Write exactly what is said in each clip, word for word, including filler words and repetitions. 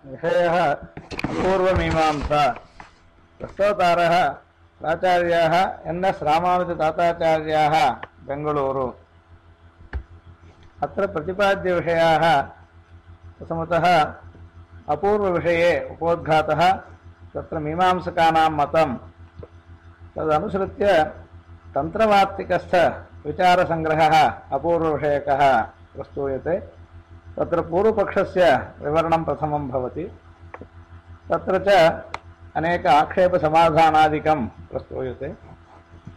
विषयः अपूर्वमीमांसा। प्रस्तोतारः प्राचार्याः N S रामानुजताताचार्याः Bengaluru. अत्र प्रतिपाद्यविषयाः प्रथमतः अपूर्वविषये उपोद्घातः तत्र मीमांसकानां मतं तदनुसृत्य तन्त्रवार्तिकस्थविचारसङ्ग्रहः अपूर्वविषयकः प्रस्तूयते। तत्र पूर्वपक्षस्य विवरणं प्रथमं भवति। तत्र च अनेक आक्षेपसमाधानादिकं प्रस्तूयते।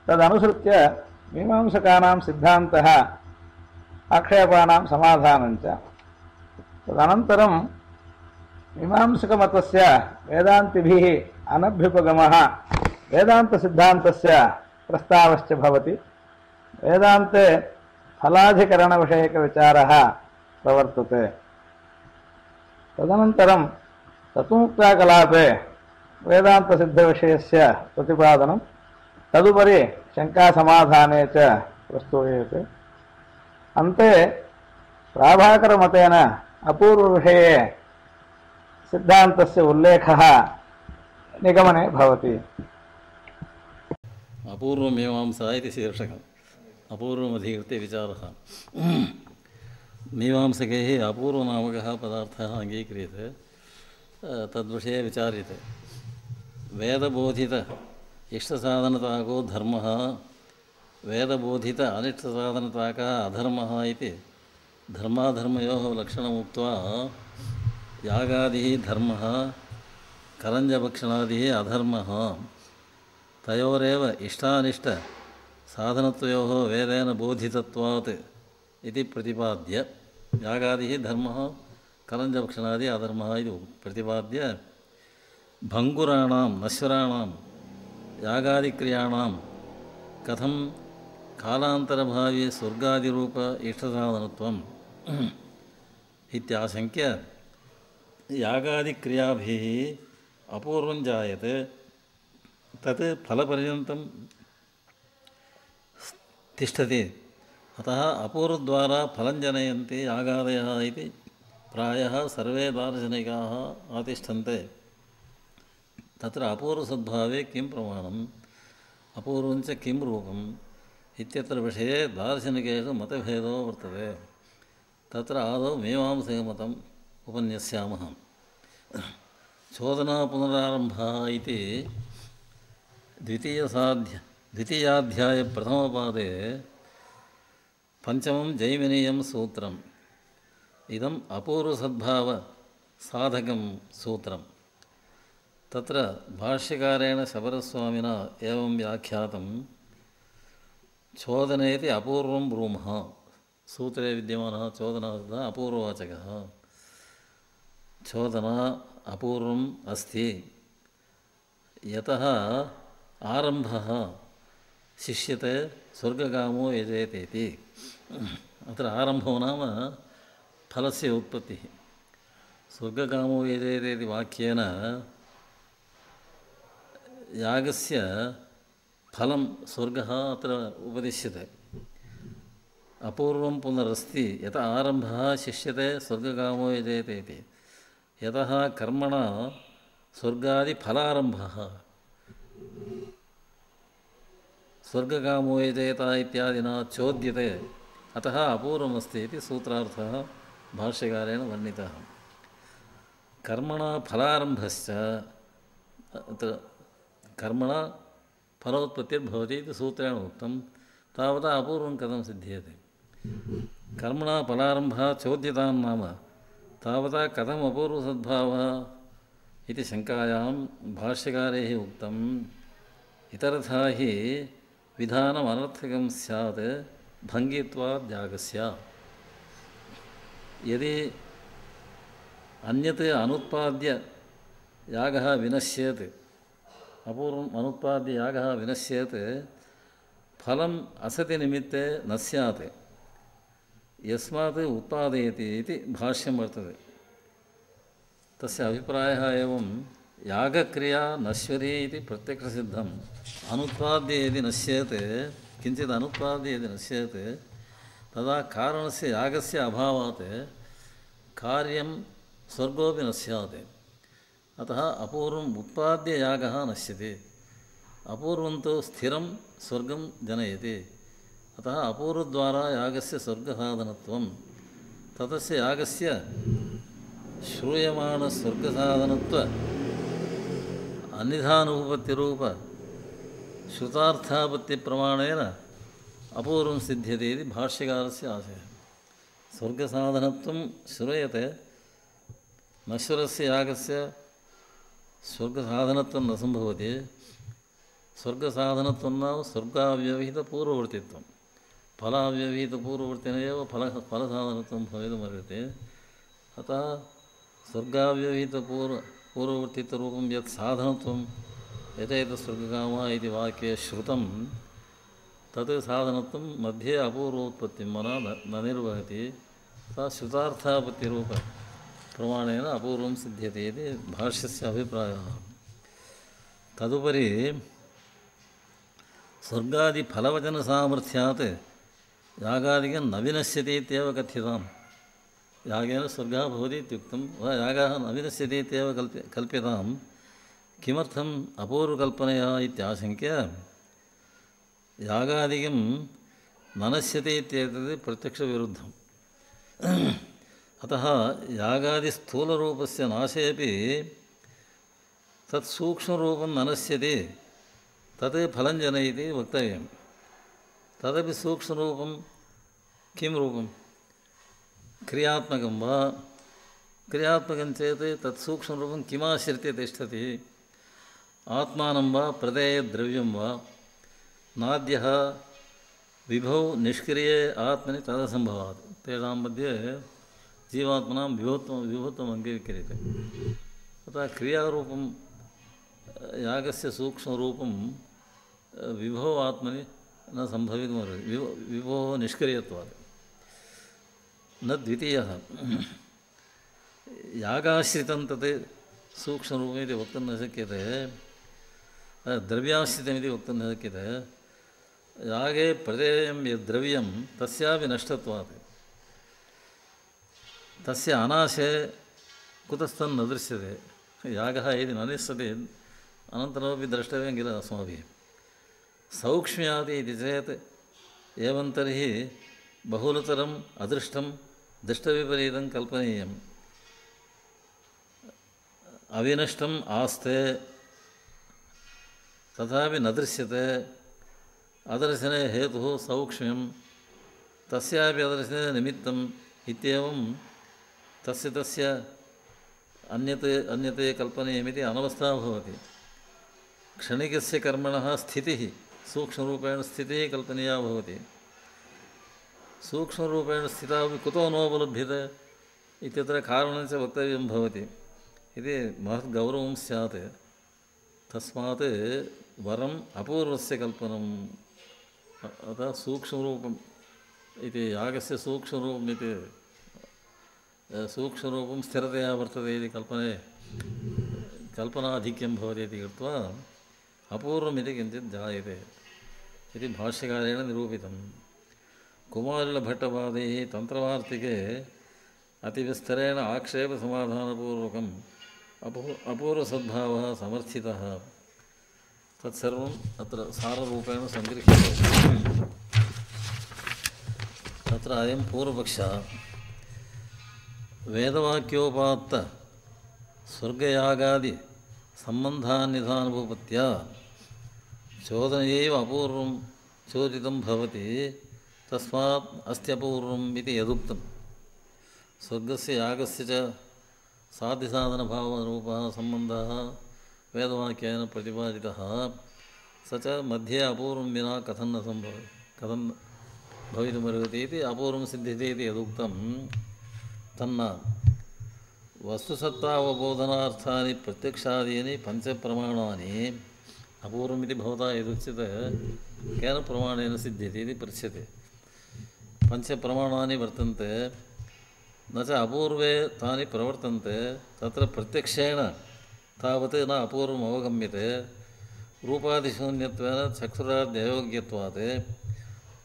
तदनुसृत्य मीमांसकानां सिद्धान्तः आक्षेपानां समाधानञ्च। तदनन्तरं मीमांसकमतस्य वेदान्तिभिः अनभ्युपगमः वेदान्तसिद्धान्तस्य प्रस्तावश्च भवति। वेदान्ते फलाधिकरणविषयकविचारः प्रवर्तते। तदनन्तरं तत्त्वमुक्ताकलापे वेदान्तसिद्धविषयस्य प्रतिपादनं, तदुपरि शङ्कासमाधाने च प्रस्तूयते। अन्ते प्राभाकरमतेन अपूर्वविषये सिद्धान्तस्य उल्लेखः निगमने भवति। अपूर्वमीमांसा इति शीर्षकम्। अपूर्वमधिकृत्य विचारः। मीमांसकैः अपूर्वनामकः पदार्थः अङ्गीक्रियते, तद्विषये विचार्यते। वेदबोधित इष्टसाधनताको धर्मः, वेदबोधित अनिष्टसाधनताकः अधर्मः इति धर्माधर्मयोः लक्षणमुक्त्वा यागादिः धर्मः, करञ्जभक्षणादिः अधर्मः, तयोरेव इष्टानिष्टसाधनत्वयोः वेदेन बोधितत्वात् इति प्रतिपाद्य यागादिः धर्मः, करञ्जभक्षणादि अधर्मः इति प्रतिपाद्य भङ्गुराणां नश्वराणां यागादिक्रियाणां कथं कालान्तरभावी स्वर्गादिरूप इष्टसाधनत्वम् इत्याशङ्क्य यागादिक्रियाभिः अपूर्वं जायते, तत् फलपर्यन्तं तिष्ठति। अतः अपूर्वद्वारा फलं जनयन्ति यागादयः इति प्रायः सर्वे दार्शनिकाः आतिष्ठन्ते। तत्र अपूर्वसद्भावे किं प्रमाणम्, अपूर्वञ्च किं रूपम् इत्यत्र विषये दार्शनिकेषु मतभेदो वर्तते। तत्र आदौ मीमांसकमतम् उपन्यस्यामः। चोदना पुनरारम्भः इति द्वितीयसाध्य द्वितीयाध्यायप्रथमपादे पञ्चमं जैमिनीयं सूत्रम्। इदम् अपूर्वसद्भावसाधकं सूत्रं। तत्र भाष्यकारेण शबरस्वामिना एवं व्याख्यातं, चोदनेति अपूर्वं ब्रूमः। सूत्रे विद्यमानः चोदनः अपूर्ववाचकः। चोदना अपूर्वम् अस्ति, यतः आरम्भः शिष्यते स्वर्गकामो यजेतेति। अत्र आरम्भो नाम फलस्य उत्पत्तिः। स्वर्गकामो यजेते इति वाक्येन यागस्य फलं स्वर्गः अत्र उपदिश्यते। अपूर्वं पुनरस्ति, यतः आरम्भः शिष्यते स्वर्गकामो यजेते इति। यतः कर्मणा स्वर्गादिफलारम्भः स्वर्गकामो यजेत इत्यादिना चोद्यते, अतः अपूर्वमस्ति इति सूत्रार्थः भाष्यकारेण वर्णितः। कर्मणा फलारम्भश्च, अत्र कर्मणा फलोत्पत्तिर्भवति इति सूत्रेण उक्तं। तावता अपूर्वं कथं सिद्ध्यति? कर्मणा फलारम्भः चोद्यतां नाम तावता कथम् अपूर्वसद्भावः इति शङ्कायां भाष्यकारैः उक्तम्। इतरथा हि विधानम् अनर्थकं स्यात् भङ्गित्वात् यागस्य। यदि अन्यत् अनुत्पाद्य यागः विनश्येत्, अपूर्वम् अनुत्पाद्य यागः विनश्येत्, फलम् असति निमित्ते न स्यात्, यस्मात् उत्पादयति इति भाष्यं वर्तते। तस्य अभिप्रायः एवं, यागक्रिया नश्वरी इति प्रत्यक्षसिद्धम्। अनुत्पाद्य यदि नश्येत्, किञ्चित् अनुत्पाद्य यदि नश्येत्, तदा कारणस्य यागस्य अभावात् कार्यं स्वर्गोऽपि न स्यात्। अतः अपूर्वम् उत्पाद्य यागः नश्यते। अपूर्वं तु स्थिरं स्वर्गं जनयति। अतः अपूर्वद्वारा यागस्य स्वर्गसाधनत्वं ततस्य यागस्य श्रूयमाणस्वर्गसाधनत्व अन्यथानुपपत्तिरूप श्रुतार्थापत्तिप्रमाणेन अपूर्वं सिद्ध्यते इति भाष्यकारस्य आशयः। स्वर्गसाधनत्वं श्रूयते, नश्वरस्य यागस्य स्वर्गसाधनत्वं न सम्भवति। स्वर्गसाधनत्वं नाम स्वर्गाव्यवहितपूर्ववर्तित्वं। फलाव्यवहितपूर्ववर्तिन एव फल फलसाधनत्वं भवितुमर्हति। अतः स्वर्गाव्यवहितपूर्व पूर्ववर्तित्वरूपं यत् साधनत्वं यथेतस्वर्गकामः इति वाक्ये श्रुतं तत् साधनत्वं मध्ये अपूर्वोत्पत्तिं मनः न निर्वहति। सा श्रुतार्थापत्तिरूपप्रमाणेन अपूर्वं सिद्ध्यते इति भाष्यस्य अभिप्रायः। तदुपरि स्वर्गादिफलवचनसामर्थ्यात् यागादिकं न विनश्यति इत्येव कथ्यताम्। यागेन स्वर्गः भवति इत्युक्तं वा यागः न विनश्यति इत्येव कल्प्य कल्प्यताम्। किमर्थम् अपूर्वकल्पनया इत्याशङ्क्य यागादिकं न नश्यति इत्येतत् प्रत्यक्षविरुद्धम्। अतः यागादिस्थूलरूपस्य नाशेऽपि तत् सूक्ष्मरूपं न नश्यति, तत् फलं जनयति वक्तव्यं। तदपि सूक्ष्मरूपं किं रूपं? क्रियात्मकं वा? क्रियात्मकं चेत् तत् सूक्ष्मरूपं किमाश्रित्य तिष्ठति? आत्मानं वा प्रदेयद्रव्यं वा? नाद्यः विभौ निष्क्रिये आत्मनि तदसम्भवात्। तेषां मध्ये जीवात्मनां विभुत्वं विभुत्वम् अङ्गीक्रियते। अतः क्रियारूपं यागस्य सूक्ष्मरूपं विभो आत्मनि न सम्भवितुमर्हति। विभो विभोः निष्क्रियत्वात् न द्वितीयः। यागाश्रितं तत् सूक्ष्मरूपमिति वक्तुं न शक्यते, द्रव्याश्रितमिति वक्तुं न शक्यते। यागे प्रदेयं यद्द्रव्यं तस्यापि नष्टत्वात् तस्य अनाशे कुतस्थं न दृश्यते। यागः यदि न निश्यते अनन्तरमपि द्रष्टव्यं किल अस्माभिः। सौक्ष्म्यादि इति चेत् एवं तर्हि बहुलतरम् अदृष्टं दृष्टविपरीतं कल्पनीयम्। अविनष्टम् आस्ते तथापि न दृश्यते। अदर्शने हेतुः सौक्ष्म्यं, तस्यापि अदर्शने निमित्तम् इत्येवं तस्य तस्य अन्यत् अन्यते कल्पनीयमिति अनवस्था भवति। क्षणिकस्य कर्मणः स्थितिः सूक्ष्मरूपेण स्थितिः कल्पनीया भवति। सूक्ष्मरूपेण स्थितापि कुतो नोपलभ्यते इत्यत्र कारणञ्च वक्तव्यं भवति इति महद्गौरवं स्यात्। तस्मात् वरम् अपूर्वस्य कल्पनम्। अतः सूक्ष्मरूपम् इति यागस्य सूक्ष्मरूपम् इति सूक्ष्मरूपं स्थिरतया वर्तते इति कल्पने कल्पनाधिक्यं भवति इति कृत्वा अपूर्वमिति किञ्चित् जायते इति भाष्यकारेण निरूपितम्। कुमारिलभट्टपादैः तन्त्रवार्तिके अतिविस्तरेण आक्षेपसमाधानपूर्वकम् अपू अपूर्वसद्भावः समर्थितः। तत्सर्वम् अत्र साररूपेण सङ्गृह्यते। तत्र अयं पूर्वपक्षः वेदवाक्योपात्त स्वर्गयागादि सम्बन्धान्यथानुभूपत्या चोदनयैव अपूर्वं चोदितं भवति। तस्मात् अस्त्यपूर्वम् इति यदुक्तं। स्वर्गस्य यागस्य च साध्यसाधनभावरूपः सम्बन्धः वेदवाक्येन प्रतिपादितः। स च मध्ये अपूर्वं विना कथं न सम्भव कथं भवितुमर्हति इति अपूर्वं सिद्ध्यति इति यदुक्तं तन्न वस्तुसत्तावबोधनार्थानि प्रत्यक्षादीनि पञ्चप्रमाणानि अपूर्वमिति भवता यदुच्यते केन प्रमाणेन सिद्ध्यति इति पृच्छ्यते। पञ्चप्रमाणानि वर्तन्ते, न च अपूर्वे तानि प्रवर्तन्ते। तत्र प्रत्यक्षेण तावत् न अपूर्वम् अवगम्यते। रूपादिशून्यत्वेन चक्षुराद्ययोग्यत्वात्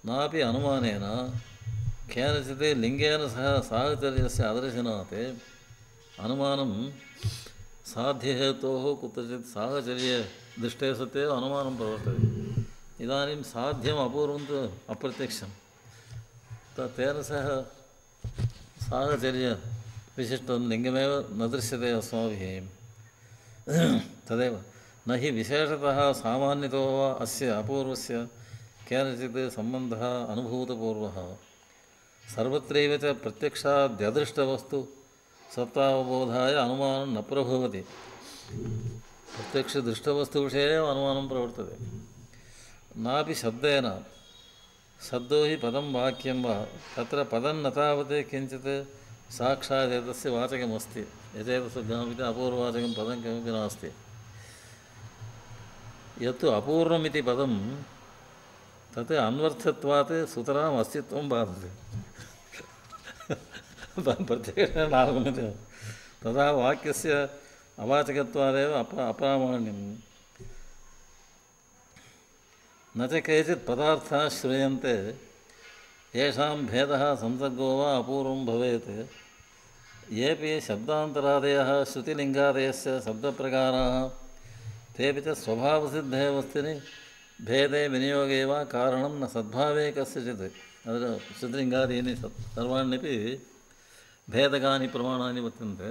नापि अनुमानेन केनचित् लिङ्गेन सह साहचर्यस्य अदर्शनात् अनुमानं साध्यहेतोः कुत्रचित् साहचर्यदृष्टे सत्येव अनुमानं प्रवर्तते। इदानीं साध्यम् अपूर्वं तु अप्रत्यक्षं तेन सह साहचर्यविशिष्टं लिङ्गमेव न दृश्यते अस्माभिः। तदेव न हि विशेषतः सामान्यतो वा अस्य अपूर्वस्य केनचित् सम्बन्धः अनुभूतपूर्वः सर्वत्रैव च प्रत्यक्षाद्यदृष्टवस्तु सत्तावबोधाय अनुमानं न प्रभवति। प्रत्यक्षदृष्टवस्तुविषये एव अनुमानं प्रवर्तते। नापि शब्देन शब्दो हि पदं वाक्यं वा तत्र पदं न तावत् किञ्चित् साक्षात् एतस्य वाचकमस्ति यथेतस्य ज्ञापिते अपूर्ववाचकं पदं किमपि नास्ति। यत्तु अपूर्वमिति पदं तत् अन्वर्थत्वात् सुतराम् अस्तित्वं बाधते प्रत्यक्षेण नागम्यते तदा वाक्यस्य अवाचकत्वादेव अप अप्रामाण्यं न च केचित् पदार्थाः श्रूयन्ते येषां भेदः संसर्गो वा अपूर्वं भवेत् येऽपि शब्दान्तरादयः श्रुतिलिङ्गादयस्य शब्दप्रकाराः तेऽपि च स्वभावसिद्धे वस्तुनि भेदे विनियोगे वा कारणं न सद्भावे कस्यचित् अत्र श्रुतिलिङ्गादीनि सर्वाण्यपि भेदकानि प्रमाणानि वर्तन्ते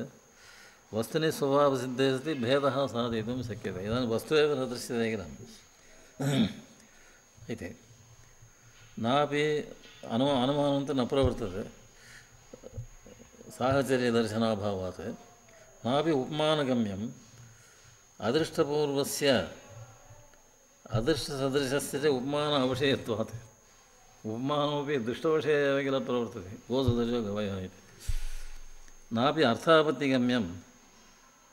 वस्तुनि स्वभावसिद्धे सति भेदः साधयितुं शक्यते। इदानीं वस्तु एव न दृश्यते किल इति नापि अनु अनुमानं तु न प्रवर्तते साहचर्यदर्शनाभावात् नापि उपमानगम्यम् अदृष्टपूर्वस्य अदृष्टसदृशस्य च उपमान अविषयत्वात् उपमानमपि दृष्टविषये एव किल प्रवर्तते गोसदृशो गवयः इति नापि अर्थापत्तिगम्यं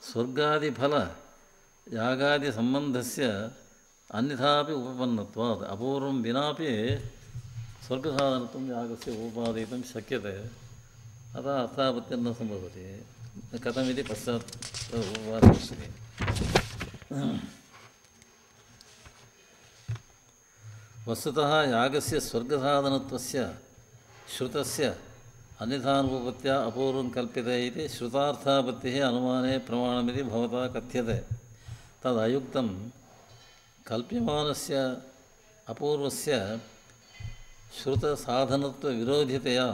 स्वर्गादिफलयागादिसम्बन्धस्य अन्यथापि उपपन्नत्वात् अपूर्वं विनापि स्वर्गसाधनत्वं यागस्य उपपादयितुं शक्यते अतः अर्थापत्तिर्न सम्भवति। कथमिति पश्चात् उपपादयिष्यति। वस्तुतः यागस्य स्वर्गसाधनत्वस्य श्रुतस्य अन्यथानुपत्या अपूर्वं कल्प्यते इति श्रुतार्थापत्तिः अनुमाने प्रमाणमिति भवता कथ्यते। तदयुक्तं कल्प्यमानस्य अपूर्वस्य श्रुतसाधनत्वविरोधितया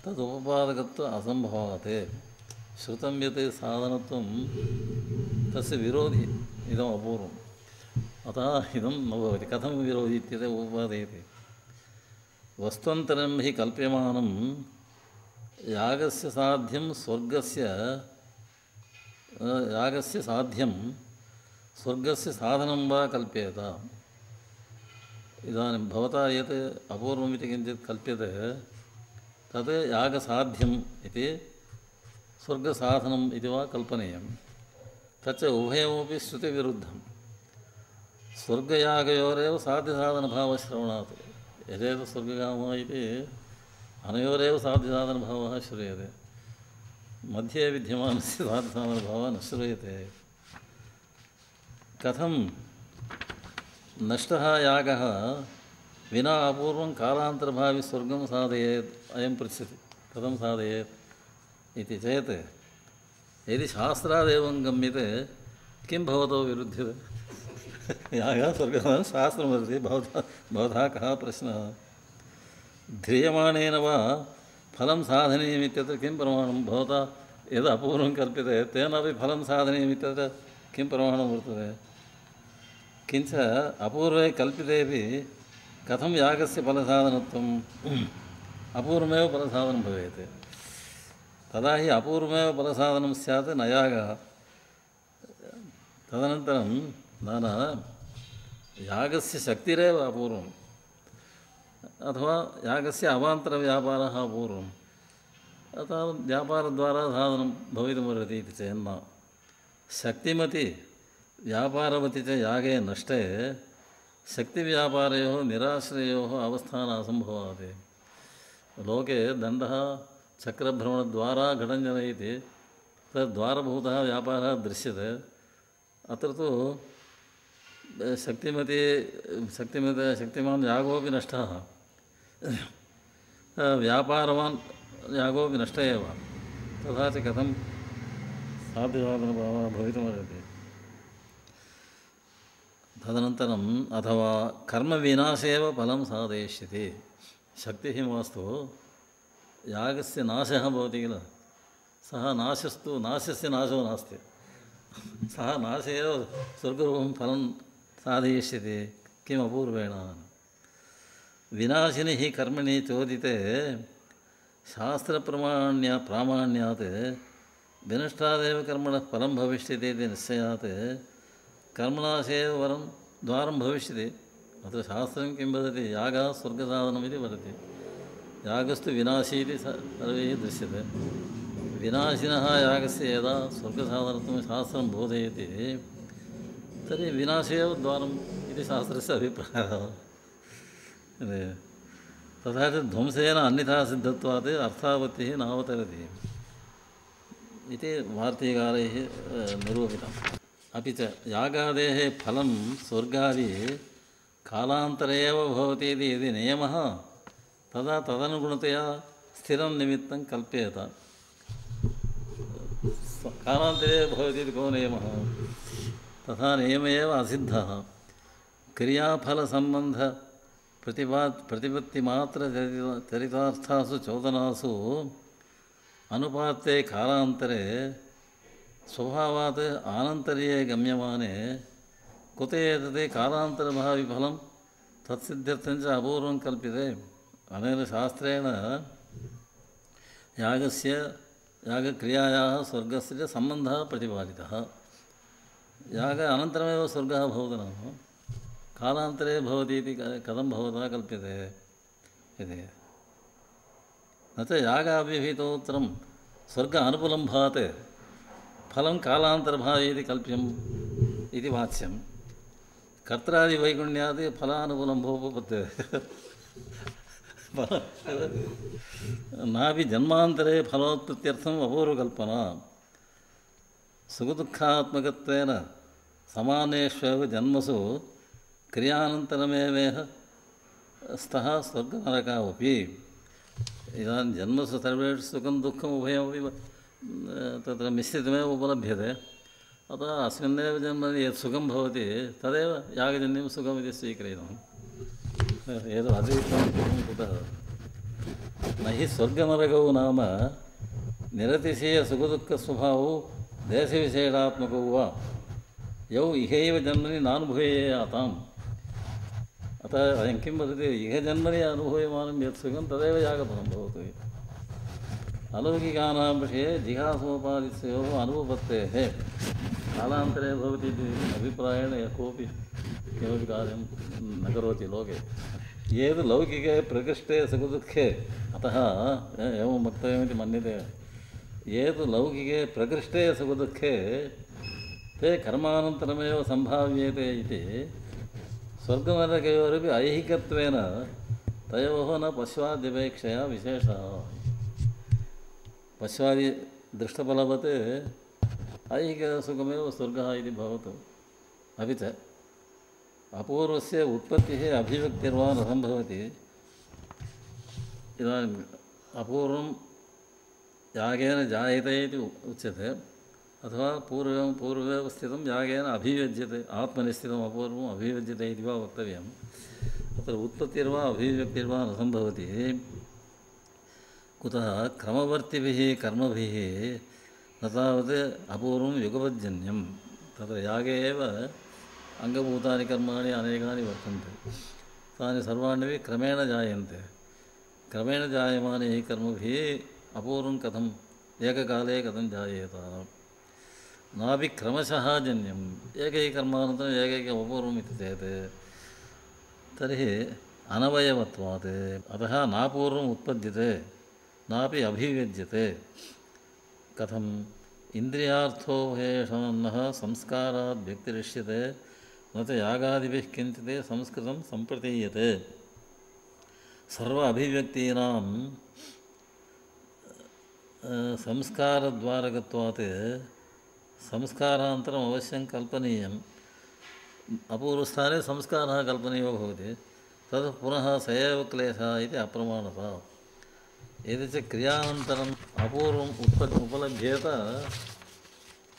तदुपपादकत्व असम्भवात्। श्रुतं यत् साधनत्वं तस्य विरोधि इदम् अपूर्वम् अतः इदं न भवति। कथं विरोधि इत्यतः उपपादयति। वस्त्वन्तरं हि कल्प्यमानं यागस्य साध्यं स्वर्गस्य यागस्य साध्यं स्वर्गस्य साधनं वा कल्प्येत। इदानीं भवता यत् अपूर्वमिति किञ्चित् कल्प्यते तत् यागसाध्यम् इति स्वर्गसाधनम् इति वा कल्पनीयं। तच्च उभयमपि श्रुतिविरुद्धं। स्वर्गयागयोरेव साध्यसाधनभावश्रवणात् यथेतत् स्वर्गकामः इति अनयोरेव साध्यसाधनभावः श्रूयते मध्ये विद्यमानस्य साध्यसाधनभावः न श्रूयते। कथं नष्टः यागः विना अपूर्वं कालान्तरभावि स्वर्गं साधयेत् अयं पृच्छति कथं साधयेत् इति चेत् यदि शास्त्रादेवं गम्यते किं भवतो विरुध्यते। यागः स्वर्गः शास्त्रमस्ति भवतः भवतः कः प्रश्नः। ध्रियमाणेन वा फलं साधनीयमित्यत्र किं प्रमाणं। भवता यद् अपूर्वं कल्प्यते तेनापि फलं साधनीयमित्यत्र किं प्रमाणं वर्तते। किञ्च अपूर्वे कल्पितेपि कथं यागस्य फलसाधनत्वम् अपूर्वमेव फलसाधनं भवेत्। तदा हि अपूर्वमेव फलसाधनं स्यात् न यागः। तदनन्तरं न न यागस्य शक्तिरेव अपूर्वम् अथवा यागस्य अवान्तरव्यापारः अपूर्वम् अतः व्यापारद्वारा साधनं भवितुमर्हति इति चेन्न। शक्तिमति व्यापारवति च यागे नष्टे शक्तिव्यापारयोः निराश्रयोः अवस्थानासम्भवात्। लोके दण्डः चक्रभ्रमणद्वारा घटं जनयति तद्वारभूतः व्यापारः दृश्यते। अत्र तु शक्तिमति शक्तिमत शक्तिमान् यागोपि नष्टः व्यापारवान् यागोपि नष्ट एव। तथा च कथं साध्यसाधनभावः भवितुमर्हति। तदनन्तरम् अथवा कर्मविनाशे एव फलं साधयिष्यति। शक्तिः मास्तु यागस्य नाशः भवति किल, सः नाशस्तु नाशस्य नाशो नास्ति, सः नाशे एव स्वर्गरूपं फलं साधयिष्यति। किम् अपूर्वेण विनाशिनि हि कर्मणि चोदिते शास्त्रप्रमाण्या प्रामाण्यात् विनष्टादेव कर्मणः फलं भविष्यति इति निश्चयात् कर्मनाशे एव वरं द्वारं भविष्यति। अत्र शास्त्रं किं वदति, यागः स्वर्गसाधनमिति वदति। यागस्तु विनाशी इति सर्वैः दृश्यते। विनाशिनः यागस्य यदा स्वर्गसाधनत्वं शास्त्रं बोधयति तर्हि विनाशे एव द्वारम् इति शास्त्रस्य अभिप्रायः। तथा च ध्वंसेन अन्यथा सिद्धत्वात् अर्थापत्तिः नावतरति इति वार्तिकारैः निरूपितम्। अपि च यागादेः फलं स्वर्गादि कालान्तरे एव भवति इति यदि नियमः तदा तदनुगुणतया स्थिरं निमित्तं कल्प्येत। कालान्तरे भवति इति को नियमः, तथा नियम एव असिद्धः। क्रियाफलसम्बन्ध प्रतिपा प्रतिपत्तिमात्र चरितार्थासु चोदनासु अनुपाते कालान्तरे स्वभावात् आनन्तर्ये गम्यमाने कुत एतत् कालान्तरभाविफलं तत्सिद्ध्यर्थं च अपूर्वं कल्प्यते। अनेन शास्त्रेण यागस्य यागक्रियायाः स्वर्गस्य च सम्बन्धः प्रतिपादितः। याग अनन्तरमेव स्वर्गः भवति नाम कालान्तरे भवति इति कथं भवता कल्प्यते इति। न च यागाभिहितोत्तरं स्वर्ग अनुकूलं भाति फलं कालान्तरभावी इति कल्प्यम् इति वाच्यं। कर्त्रादिवैगुण्यात् फलानुकूलं भोपपद्यते नापि जन्मान्तरे फलोत्पत्त्यर्थम् अपूर्वकल्पना। सुखदुःखात्मकत्वेन समानेष्वेव जन्मसु क्रियानन्तरमेवेह स्तः स्वर्गनरकावपि। इदानीं जन्मसु सर्वेषु सुखं दुःखम् उभयमपि तत्र मिश्रितमेव उपलभ्यते। अतः अस्मिन्नेव जन्मनि यत् सुखं भवति तदेव यागजन्यं सुखमिति स्वीक्रियते। एतद् अतिरिक्तं सुखं कुतः? न हि स्वर्गनरकौ नाम निरतिशयसुखदुःखस्वभावौ देशविशेषात्मकौ वा यौ इहैव जन्मनि नानुभूयेयाताम्। अतः अयं किं वदति, इह जन्मनि अनुभूयमानं यत् सुखं तदेव यागफलं भवति। अलौकिकानां विषये जिहासोपादितयोः अनुपपत्तेः कालान्तरे भवति इति अभिप्रायेण यः कोऽपि किमपि कार्यं न करोति लोके। ये तु लौकिके प्रकृष्टे सुखदुःखे, अतः एवं वक्तव्यमिति मन्यते, ये तु लौकिके प्रकृष्टे सुखदुःखे ते कर्मानन्तरमेव सम्भाव्येते इति स्वर्गनरकयोरपि ऐहिकत्वेन तयोः न पश्वाद्यपेक्षया विशेषः। पश्वादि दृष्टफलवत् ऐहिकसुखमेव स्वर्गः इति भवतु। अपि च अपूर्वस्य उत्पत्तिः अभिव्यक्तिर्वा न सम्भवति। इदानीम् अपूर्वं यागेन जायते इति उच्यते, अथवा पूर्वं पूर्वमेव स्थितं यागेन अभिव्यज्यते, आत्मनिस्थितम् अपूर्वम् अभिव्यज्यते इति वा वक्तव्यम्। अत्र उत्पत्तिर्वा अभिव्यक्तिर्वा न सम्भवति। कुतः क्रमवर्तिभिः कर्मभिः न तावत् अपूर्वं युगपज्जन्यं। तत्र यागे एव अङ्गभूतानि कर्माणि अनेकानि वर्तन्ते, तानि सर्वाण्यपि क्रमेण जायन्ते। क्रमेण जायमानैः कर्मभिः अपूर्वं कथम् एककाले कथं जायेत? नापि क्रमशः जन्यम् एकैकर्मानन्तरम् एकैकम् अपूर्वम् इति चेत् तर्हि अनवयवत्वात्। अतः नापूर्वम् उत्पद्यते नापि अभिव्यज्यते। कथम्? इन्द्रियार्थो हेषणः संस्कारात् व्यक्तिरिष्यते न च यागादिभिः किञ्चित् संस्कृतं सम्प्रतीयते। सर्व अभिव्यक्तीनां संस्कारद्वारकत्वात् संस्कारान्तरम् अवश्यं कल्पनीयम्। अपूर्वस्थाने संस्कारः कल्पनीयो भवति, तद् पुनः स एव क्लेशः इति अप्रमाणता। यदि च क्रियानन्तरम् अपूर्वम् उत्पत् उपलभ्येत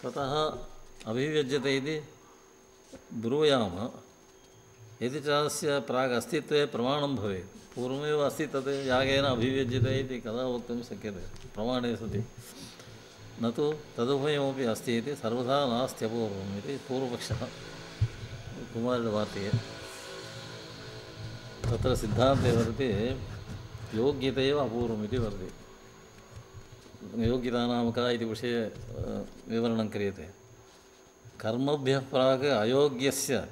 ततः अभिव्यज्यते इति ब्रूयाम। यदि च अस्य प्राग् अस्तित्वे प्रमाणं भवेत्, पूर्वमेव अस्ति तत् यागेन अभिव्यज्यते इति कदा वक्तुं शक्यते प्रमाणे सति, न तु तदुभयमपि अस्ति इति सर्वथा नास्त्यपूर्वम् इति पूर्वपक्षः कुमारवार्तिके। तत्र सिद्धान्ते वदति योग्यते एव अपूर्वम् इति वदति। योग्यता नाम का इति विषये विवरणं क्रियते। कर्मभ्यः प्राक् अयोग्यस्य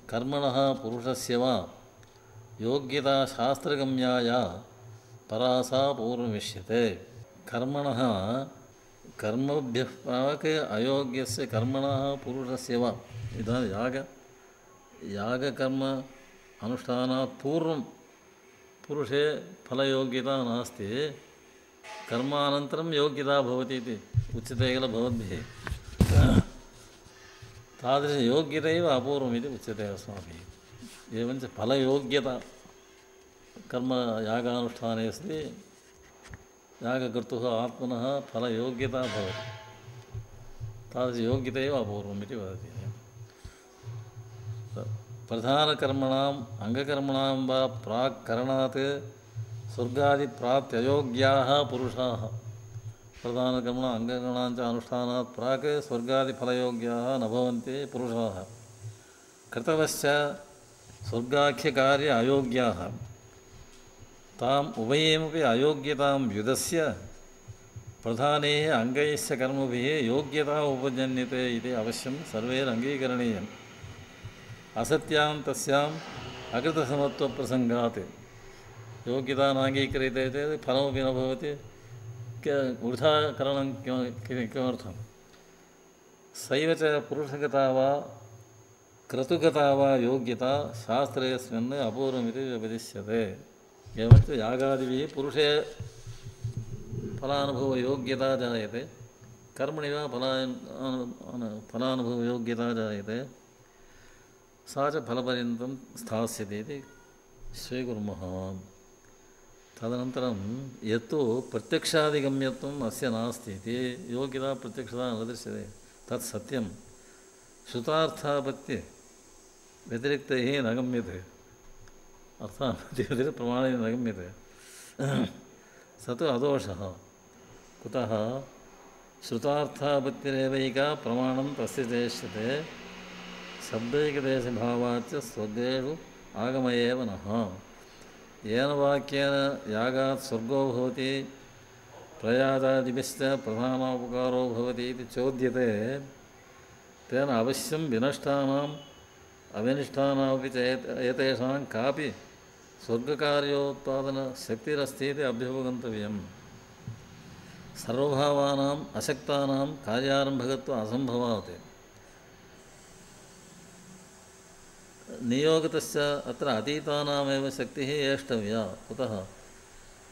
कर्मणः पुरुषस्य वा योग्यता शास्त्रगम्याया परा सा पूर्वमिष्यते। कर्मणः कर्मभ्यः प्राक् अयोग्यस्य कर्मणः पुरुषस्य वा, इदानीं याग यागकर्म अनुष्ठानात् पूर्वं पुरुषे फलयोग्यता नास्ति, कर्मानन्तरं योग्यता भवति इति उच्यते किल भवद्भिः। तादृशयोग्यता एव अपूर्वम् इति उच्यते अस्माभिः। एवञ्च फलयोग्यता कर्म यागानुष्ठाने अस्ति, यागकर्तुः आत्मनः फलयोग्यता भवति, तादृशयोग्यता एव अपूर्वम् इति वदति। प्रधानकर्मणाम् अङ्गकर्मणां वा प्राक् करणात् स्वर्गादिप्राप्त्ययोग्याः पुरुषाः, प्रधानकर्मणाम् अङ्गकर्मणां च अनुष्ठानात् प्राक् स्वर्गादिफलयोग्याः न भवन्ति पुरुषाः। कृतवश्च स्वर्गाख्यकार्य अयोग्याः, ताम् उभयमपि अयोग्यतां व्युदस्य प्रधानैः अङ्गैश्च कर्मभिः योग्यता उपजन्यते इति अवश्यं सर्वैरङ्गीकरणीयम्। असत्यां तस्याम् अकृतसमत्वप्रसङ्गात् योग्यता नाङ्गीक्रियते चेत् फलमपि न भवति, वृथा करणं किमर्थं। सैव च पुरुषगता वा क्रतुगता वा योग्यता शास्त्रेऽस्मिन् अपूर्वमिति व्यपदिश्यते। एवञ्च यागादिभिः पुरुषे फलानुभवयोग्यता जायते, कर्मणि वा फला फलानुभवयोग्यता जायते, सा च फलपर्यन्तं स्थास्यति इति स्वीकुर्मः। तदनन्तरं यत्तु प्रत्यक्षादिगम्यत्वम् अस्य नास्ति इति, योग्यता प्रत्यक्षता न दृश्यते, तत् सत्यं। श्रुतार्थापत्ति व्यतिरिक्तैः न गम्यते, अर्थापत्तिव्यतिरिक्त प्रमाणेन न गम्यते, स तु अदोषः। कुतः? श्रुतार्थापत्तिरेवैका प्रमाणं तस्य चेष्यते, शब्दैकदेशभावाच्च स्वर्गेषु आगम एव नः। येन वाक्येन यागात् स्वर्गो भवति, प्रयातादिभिश्च प्रधानोपकारो भवति इति चोद्यते, तेन अवश्यं विनष्टानाम् अविनिष्टानामपि च एतेषां कापि स्वर्गकार्योत्पादनशक्तिरस्ति इति अभ्युपगन्तव्यम्। सर्वभावानाम् अशक्तानां कार्यारम्भकत्व असम्भवात्। नियोगतश्च अत्र अतीतानामेव शक्तिः एष्टव्या। कुतः?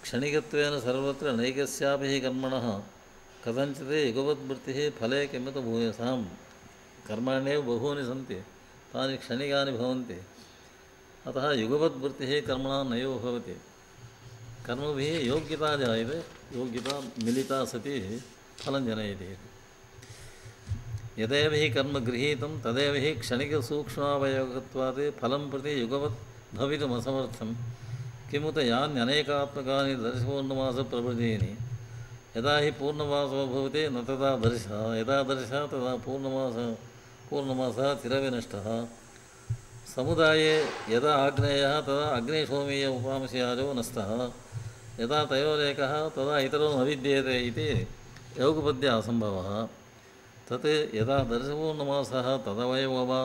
क्षणिकत्वेन सर्वत्र नैकस्यापि कर्मणः कथञ्चित् युगपद्वृत्तिः फले किमुत भूयसां। कर्माण्येव बहूनि सन्ति, तानि क्षणिकानि भवन्ति, अतः युगपद्वृत्तिः कर्मणां नैव भवति। कर्मभिः योग्यता जायते, योग्यता मिलिता सति फलं जनयति। यदेव हि कर्म गृहीतं तदेव हि क्षणिकसूक्ष्मावयोगत्वात् फलं प्रति युगवत् भवितुमसमर्थं। किमुत यान्यनेकात्मकानि दर्शपूर्णमासप्रभृतीनि। यदा हि पूर्णमासो भवति न तदा दर्शः, यदा दर्शः तदा पूर्णमासः पूर्णमासः चिरविनष्टः। समुदाये यदा आग्नेयः तदा अग्निशोमीय उपांशयाजो नस्तः। यदा तयोरेकः तदा इतरो न विद्येते इति योगपद्य असम्भवः। तत् यदा दर्शपूर्णमासः तदवैव वा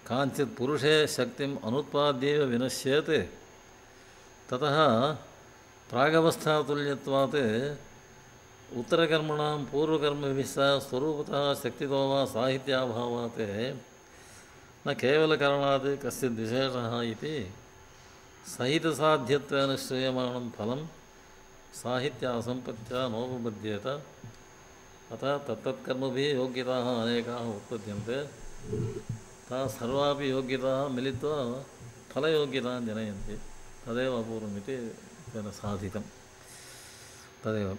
काञ्चित् पुरुषे शक्तिम् अनुत्पाद्यैव विनश्येत्, ततः प्रागवस्थातुल्यत्वात् उत्तरकर्मणां पूर्वकर्मभिः सह स्वरूपतः शक्तितो वा साहित्याभावात् न केवलकरणात् कश्चित् विशेषः इति सहितसाध्यत्वेन श्रूयमाणं फलं साहित्यासम्पत्त्या नोपपद्येत। अतः तत्तत्कर्मभिः योग्यताः अनेकाः उत्पद्यन्ते, ताः सर्वापि योग्यताः मिलित्वा फलयोग्यतां जनयन्ति। तदेव अपूर्वमिति तेन साधितं। तदेव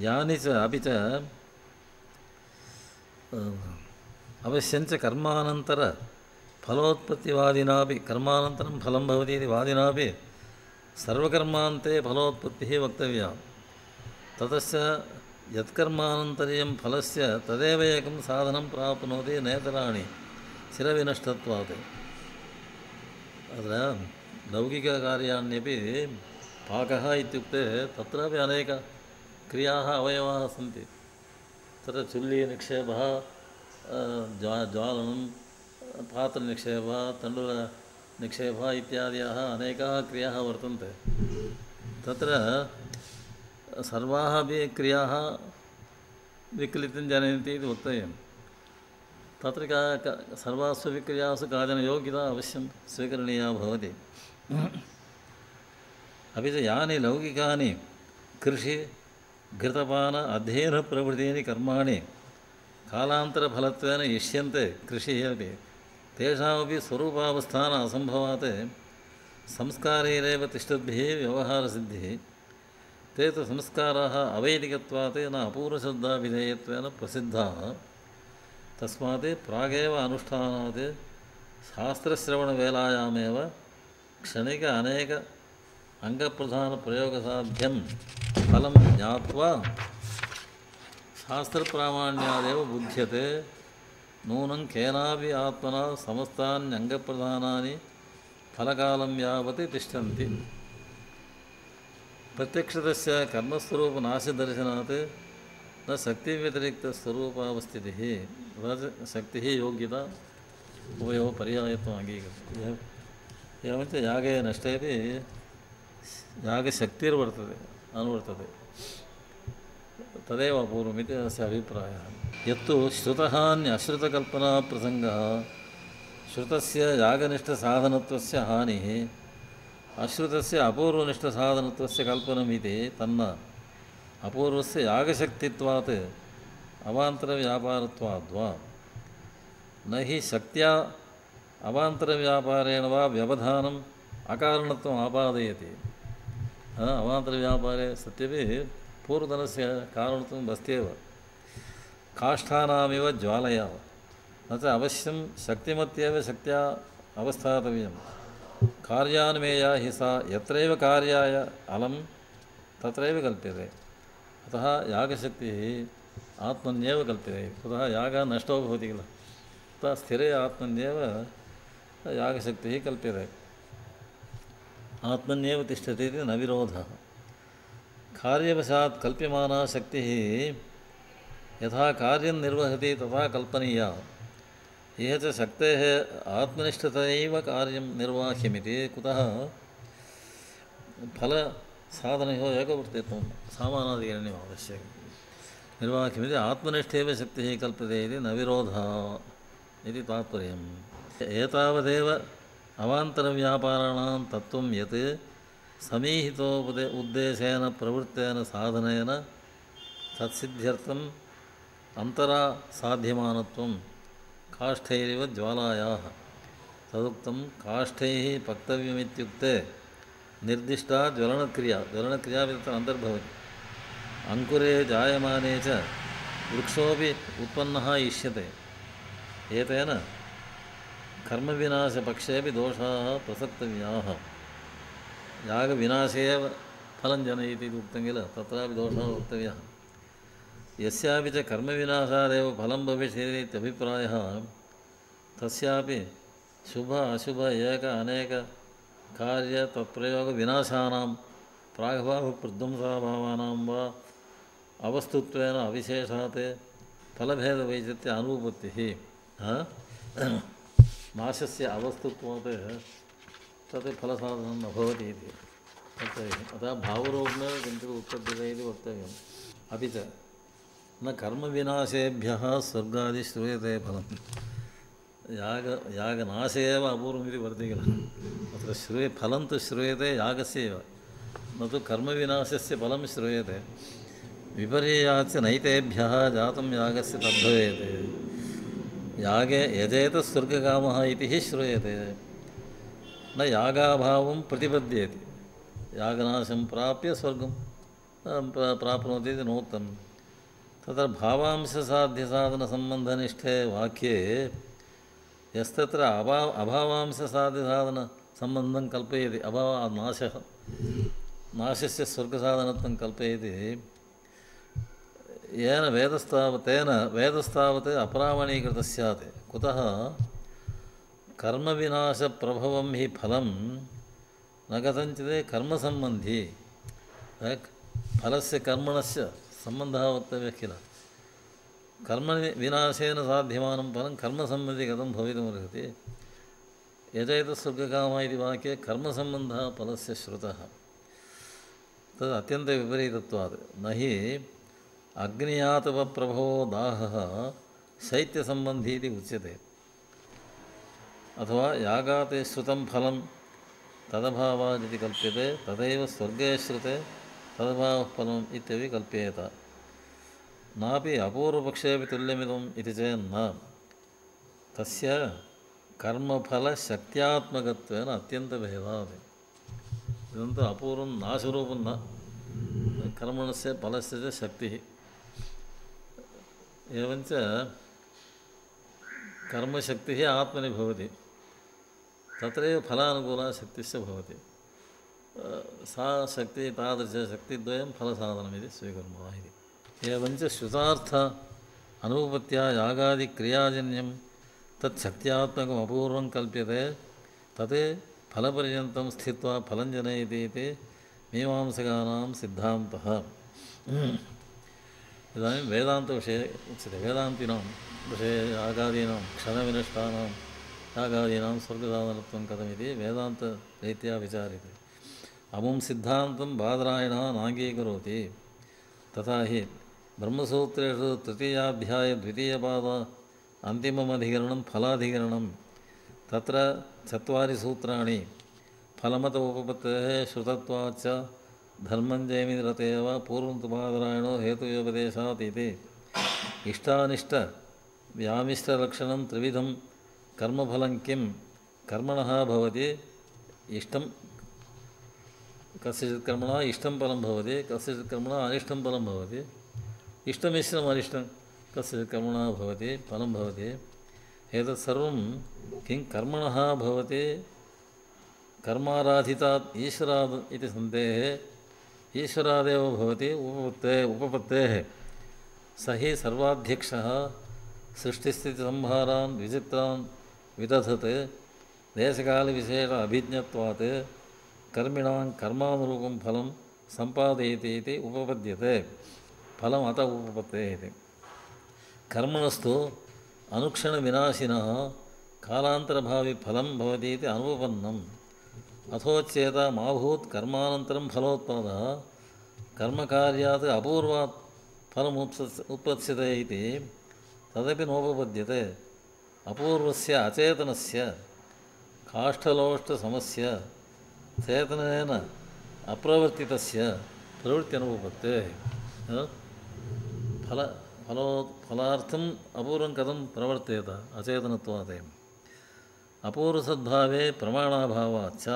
यानि च अपि च अवश्यञ्च कर्मानन्तर फलोत्पत्तिवादिनापि कर्मानन्तरं फलं भवति इति वादिनापि सर्वकर्मान्ते फलोत्पत्तिः वक्तव्या। ततश्च यत्कर्मानन्तरीयं फलस्य तदेव एकं साधनं प्राप्नोति नेतराणि चिरविनष्टत्वात्। अत्र लौकिककार्याण्यपि पाकः इत्युक्ते तत्रापि अनेकक्रियाः अवयवाः सन्ति। तत्र चुल्लीनिक्षेपः, ज्वा ज्वालनं, पात्रनिक्षेपः, तण्डुलनिक्षेपः इत्यादयः अनेकाः क्रियाः वर्तन्ते। तत्र सर्वाः अपि क्रियाः विक्लितं जनयन्ति इति वक्तव्यं। तत्र का सर्वासु अपि क्रियासु काचन योग्यता अवश्यं स्वीकरणीया भवति। अपि च यानि लौकिकानि कृषि घृतपान अध्ययनप्रभृतीनि कर्माणि कालान्तरफलत्वेन इष्यन्ते कृषिः अपि, तेषामपि स्वरूपावस्थान असम्भवात् संस्कारैरेव तिष्ठद्भिः व्यवहारसिद्धिः। ते तु संस्काराः अवैदिकत्वात् न अपूर्वश्रद्धाविधेयत्वेन प्रसिद्धाः। तस्मात् प्रागेव अनुष्ठानात् शास्त्रश्रवणवेलायामेव क्षणिक अनेक अङ्गप्रधानप्रयोगसाध्यं फलं ज्ञात्वा शास्त्रप्रामाण्यादेव बुध्यते। नूनं केनापि आत्मना समस्तान्यङ्गप्रधानानि फलकालं यावत् तिष्ठन्ति। प्रत्यक्षतस्य कर्मस्वरूपनाशदर्शनात् न शक्तिव्यतिरिक्तस्वरूपावस्थितिः शक्तिः योग्यता उभयोः पर्यायत्वम् अङ्गीकृतम्। एवञ्च यागे नष्टेपि यागशक्तिर्वर्तते अनुवर्तते, तदेव अपूर्वमिति अस्य अभिप्रायः। यत्तु श्रुतहान्यश्रुतकल्पनाप्रसङ्गः श्रुतस्य यागनिष्ठसाधनत्वस्य हानिः, अश्रुतस्य अपूर्वनिष्ठसाधनत्वस्य कल्पनमिति तन्न अपूर्वस्य यागशक्तित्वात् अवान्तरव्यापारत्वाद्वा न हि शक्त्या अवान्तरव्यापारेण वा व्यवधानम् अकारणत्वम् आपादयति। अवान्तरव्यापारे सत्यपि पूर्वतनस्य कारणत्वम् अस्त्येव। काष्ठानामिव ज्वालया न च अवश्यं शक्तिमत्येव शक्त्या अवस्थातव्यं। कार्यान्मेया हि सा यत्रैव कार्याय अलं तत्रैव कल्प्यते। अतः यागशक्तिः आत्मन्येव कल्प्यते। कुतः यागः नष्टो भवति किल, तथा स्थिरे आत्मन्येव यागशक्तिः कल्प्यते, आत्मन्येव तिष्ठति इति न विरोधः। कार्यवशात् कल्प्यमाना शक्तिः यथा कार्यं निर्वहति तथा कल्पनीया। इह च शक्तेः आत्मनिष्ठतयैव कार्यं निर्वाह्यमिति। कुतः फलसाधनयोः एकवर्तित्वं सामानाधिकरण्यम् आवश्यकं। निर्वाह्यमिति आत्मनिष्ठैव शक्तिः कल्प्यते इति न विरोधः इति तात्पर्यम्। एतावदेव अवान्तरव्यापाराणां तत्त्वं यत् समीहितोपदे उद्देशेन प्रवृत्तेन साधनेन तत्सिद्ध्यर्थम् अन्तरा साध्यमानत्वं काष्ठैरिव ज्वालायाः तदुक्तं। काष्ठैः पक्तव्यमित्युक्ते निर्दिष्टा ज्वलनक्रिया, ज्वलनक्रिया तत्र अन्तर्भवति। अङ्कुरे जायमाने च वृक्षोऽपि उत्पन्नः इष्यते। एतेन कर्मविनाशपक्षेऽपि दोषाः प्रसक्तव्याः। यागविनाशे एव फलं जनयति इति उक्तं किल, तत्रापि दोषः वक्तव्यः। यस्यापि च कर्मविनाशादेव फलं भविष्यति इत्यभिप्रायः तस्यापि शुभ अशुभ एक अनेक कार्य तत्प्रयोगविनाशानां प्रागभावप्रध्वंसाभावानां वा अवस्तुत्वेन अविशेषात् फलभेदवैचित्र्य अनुपत्तिः नाशस्य अवस्तुत्वात् तत् फलसाधनं न भवति इति वक्तव्यम्। अतः भावरूपेण किञ्चित् उत्पद्यते इति वक्तव्यम्। अपि च न कर्मविनाशेभ्यः स्वर्गादि श्रूयते फलं। याग यागनाशे एव अपूर्वमिति वर्तते किल, अत्र श्रूये फलं तु श्रूयते यागस्य एव, न तु कर्मविनाशस्य फलं श्रूयते। विपर्ययाच्च नैतेभ्यः जातं यागस्य तद्भवेत्। यागे यजेत स्वर्गकामः इति हि श्रूयते, न यागाभावं प्रतिपद्येति। यागनाशं प्राप्य स्वर्गं प्राप्नोति इति नोक्तं। तत्र भावांशसाध्यसाधनसम्बन्धनिष्ठे वाक्ये यस्तत्र अभा अभावांशसाध्यसाधनसम्बन्धं कल्पयति, अभाव नाशः नाशस्य स्वर्गसाधनत्वं कल्पयति, येन वेदस्तावत् तेन वेदस्तावत् अप्रामाणीकृतः स्यात्। कुतः? कर्मविनाशप्रभवं हि फलं न कथञ्चित् कर्मसम्बन्धी। फलस्य कर्मणस्य सम्बन्धः वक्तव्यः किल। कर्मविनाशेन साध्यमानं फलं कर्मसम्बन्धी कथं भवितुमर्हति? यजयतस्वर्गकामः इति वाक्ये कर्मसम्बन्धः फलस्य श्रुतः, तद् अत्यन्तविपरीतत्वात्। न हि अग्नियातपप्रभवो दाहः शैत्यसम्बन्धी इति उच्यते, अथवा यागात् श्रुतं फलं तदभावात् इति कल्प्यते, तदैव स्वर्गे श्रुते तदभावः फलम् इत्यपि कल्प्येत। नापि अपूर्वपक्षेऽपि तुल्यमिदम् इति चेन्न तस्य कर्मफलशक्त्यात्मकत्वेन अत्यन्तभेदात्। इदं तु अपूर्वं नाशरूपं न, कर्मणस्य फलस्य च शक्तिः। एवञ्च कर्मशक्तिः आत्मनि भवति, तत्रैव फलानुकूला शक्तिश्च भवति। सा शक्तिः तादृशशक्तिद्वयं फलसाधनमिति स्वीकुर्मः इति। एवञ्च श्रुतार्थ अनुपत्या यागादिक्रियाजन्यं तच्छक्त्यात्मकम् अपूर्वं कल्प्यते, तत् फलपर्यन्तं स्थित्वा फलं जनयति इति मीमांसकानां सिद्धान्तः। इदानीं वेदान्तविषये उच्यते। वेदान्तिनां विषये यागादीनां क्षणविनष्टानां यागादीनां स्वर्गसाधनत्वं कथमिति वेदान्तरीत्या विचार्यते। अमुं सिद्धान्तं बादरायणः नाङ्गीकरोति। तथा हि ब्रह्मसूत्रेषु तृतीयाध्याये द्वितीयपाद अन्तिममधिकरणं फलाधिकरणं, तत्र चत्वारि सूत्राणि फलमत उपपत्तेः श्रुतत्वाच्च धर्मं जयमिरतेव पूर्वं तु बादरायणो हेतुव्यपदेशात् इति इष्टानिष्टव्यामिष्टलक्षणं त्रिविधं कर्मफलं किं कर्मणः भवति। इष्टं कस्यचित् कर्मणः इष्टं फलं भवति, कस्यचित् कर्मणः अनिष्टं फलं भवति। इष्टमिश्रम् अनिष्टं कस्यचित् कर्मणः भवति, फलं भवति। एतत् सर्वं किं कर्मणः भवति। कर्माराधितात् ईश्वरात् इति सन्देः ईश्वरादेव भवति उपपत्ते उपपत्तेः। स हि सर्वाध्यक्षः सृष्टिस्थितिसंहारान् विचित्रान् विदधत् देशकालविशेष अभिज्ञत्वात् कर्मिणां कर्मानुरूपं फलं सम्पादयति इति उपपद्यते। फलम् अत उपपत्तेः इति। कर्मणस्तु अनुक्षणविनाशिनः कालान्तरभावि फलं भवति इति अनुपपन्नम्। अथोच्येत माभूत् कर्मानन्तरं फलोत्पादः कर्मकार्यात् अपूर्वात् फलमुत्पत्स् उत्पत्स्यते इति तदपि नोपपद्यते। अपूर्वस्य अचेतनस्य काष्ठलोष्टसमस्य चेतनेन अप्रवर्तितस्य प्रवृत्त्यनुपपत्तेः। फल फलो फलार्थम् अपूर्वं कथं प्रवर्तेत अचेतनत्वात्। अपूर्वसद्भावे प्रमाणाभावाच्च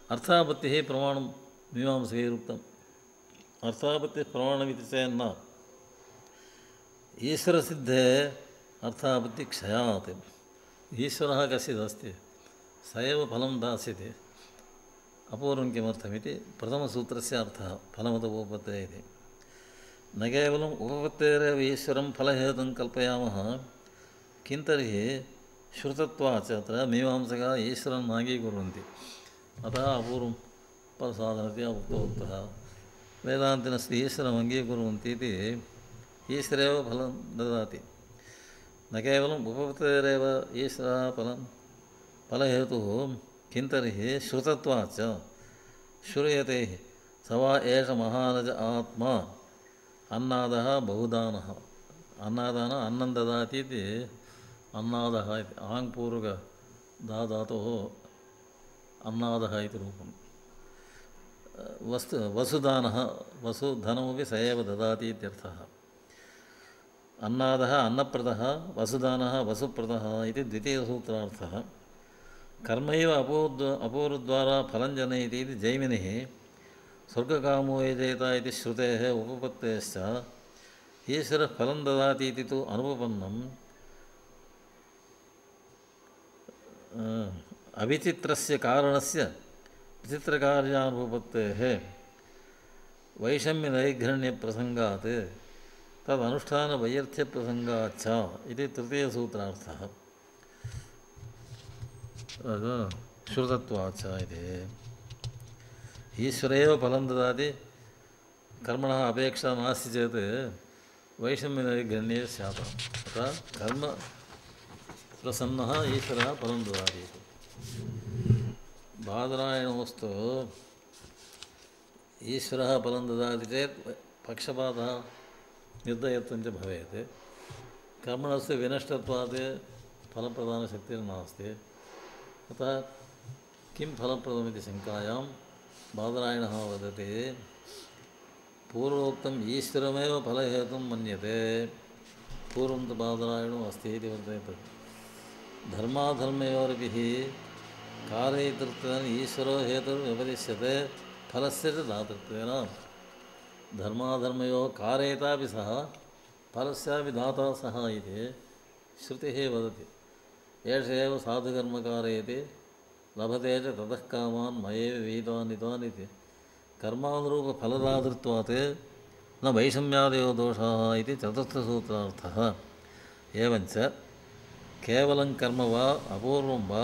अर्थापत्तिः प्रमाणं मीमांसकैरुक्तम्। अर्थापत्तिः प्रमाणमिति चेन्न ईश्वरसिद्धे अर्थापत्तिक्षयात्। ईश्वरः कश्चिदस्ति, स एव फलं दास्यति। अपूर्वं किमर्थमिति प्रथमसूत्रस्य अर्थः फलमत उपपत्तेः इति। न केवलम् उपपत्तेरेव ईश्वरं फलहेतुं कल्पयामः, किं तर्हि श्रुतत्वाच्च अत्र मीमांसकाः ईश्वरं नाङ्गीकुर्वन्ति। अतः अपूर्वं फलसाधनतया उक्तवन्तः। वेदान्तिनस्तु ईश्वरम् अङ्गीकुर्वन्ति इति ईश्वरेव फलं ददाति। न केवलम् उपपत्तेरेव ईश्वरः फलं फलहेतुः, किं तर्हि श्रुतत्वाच्च श्रूयते स वा एष महानज आत्मा अन्नादः बहुदानः। अन्नादानः अन्नं ददाति इति अन्नादः इति आङ्पूर्वकधातोः अन्नादः इति रूपं। वस्तु वसुदानः वसुधनमपि स एव ददाति इत्यर्थः। अन्नादः अन्नप्रदः, वसुदानः वसुप्रदः इति द्वितीयसूत्रार्थः। कर्मैव अपूर्व अपूर्वद्वारा फलं जनयति इति जैमिनिः स्वर्गकामो यजेत इति श्रुतेः उपपत्तेश्च ईश्वरः फलं ददाति इति तु अनुपपन्नम् अविचित्रस्य कारणस्य विचित्रकार्यानुपपत्तेः वैषम्यनैर्घण्यप्रसङ्गात् तदनुष्ठानवैयर्थ्यप्रसङ्गाच्च इति तृतीयसूत्रार्थः श्रुतत्वाच्च इति ईश्वर एव फलं ददाति कर्मणः अपेक्षा नास्ति चेत् वैषम्यनैर्घण्ये स्यात् अतः कर्म प्रसन्नः ईश्वरः फलं ददाति इति बादरायणोऽस्तु ईश्वरः फलं ददाति चेत् पक्षपातः निर्दयत्वं च भवेत् कर्मणस्य विनष्टत्वात् फलप्रदानशक्तिर्नास्ति अतः किं फलप्रदमिति शङ्कायां बादरायणः वदति पूर्वोक्तम् ईश्वरमेव फलहेतुं मन्यते पूर्वं तु बादरायणो अस्ति इति वर्तते धर्माधर्मयोरपि कारयितृत्वेन ईश्वरो हेतुर्व्यपदिश्यते फलस्य च दातृत्वेन धर्माधर्मयोः कारयितापि सः फलस्यापि दाता सः इति श्रुतिः वदति एष एव साधुकर्म कारयति लभते च ततः कामान् मयैव विहितान् इतान् इति कर्मानुरूपफलदातृत्वात् न वैषम्यादयो दोषाः इति चतुर्थसूत्रार्थः एवञ्च केवलं कर्म वा अपूर्वं वा